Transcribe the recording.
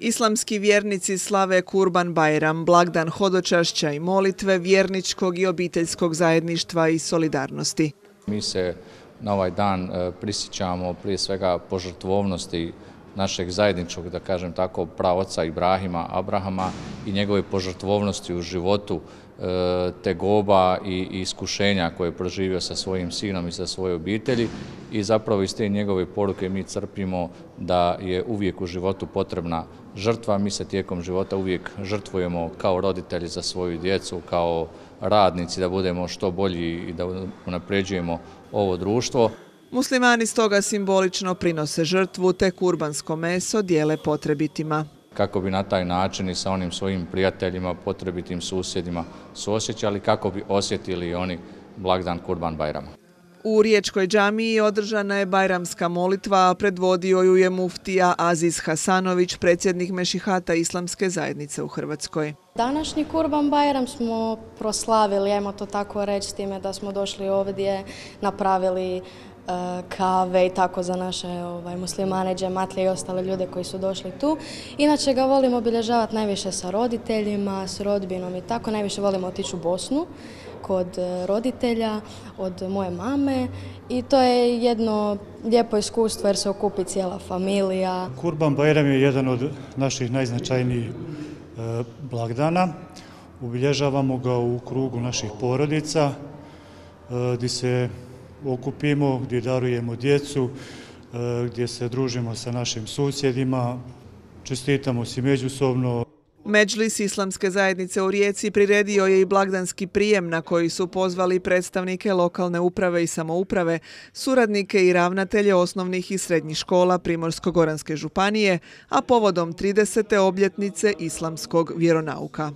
Islamski vjernici slave Kurban Bajram, blagdan hodočašća i molitve, vjerničkog i obiteljskog zajedništva i solidarnosti. Mi se na ovaj dan prisjećamo prije svega požrtvovnosti našeg zajedničkog, da kažem tako, praoca Ibrahima, Abrahama i njegove požrtvovnosti u životu, tegoba i iskušenja koje je proživio sa svojim sinom i sa svojoj obitelji i zapravo iz te njegove poruke mi crpimo da je uvijek u životu potrebna žrtva. Mi se tijekom života uvijek žrtvujemo kao roditelji za svoju djecu, kao radnici da budemo što bolji i da unapređujemo ovo društvo. Muslimani stoga simbolično prinose žrtvu te kurbansko meso dijele potrebitima. Kako bi na taj način i sa onim svojim prijateljima, potrebitim susjedima suosjećali, kako bi osjetili oni blagdan Kurban Bajrama. U Riječkoj džamiji održana je bajramska molitva, a predvodio ju je muftija Aziz Hasanović, predsjednik Mešihata Islamske zajednice u Hrvatskoj. Današnji Kurban Bajram smo proslavili, ajmo to tako reći, s time da smo došli ovdje, napravili kave i tako za naše muslimane, džematlije i ostale ljude koji su došli tu. Inače ga volimo obilježavati najviše sa roditeljima, s rodbinom i tako. Najviše volimo otići u Bosnu kod roditelja, od moje mame i to je jedno lijepo iskustvo jer se okupi cijela familija. Kurban Bajram je jedan od naših najznačajnijih blagdana. Obilježavamo ga u krugu naših porodica gdje se okupimo, gdje darujemo djecu, gdje se družimo sa našim susjedima, čestitamo si međusobno. Medžlis Islamske zajednice u Rijeci priredio je i blagdanski prijem na koji su pozvali predstavnike lokalne uprave i samouprave, suradnike i ravnatelje osnovnih i srednjih škola Primorsko-goranske županije, a povodom 30. obljetnice islamskog vjeronauka.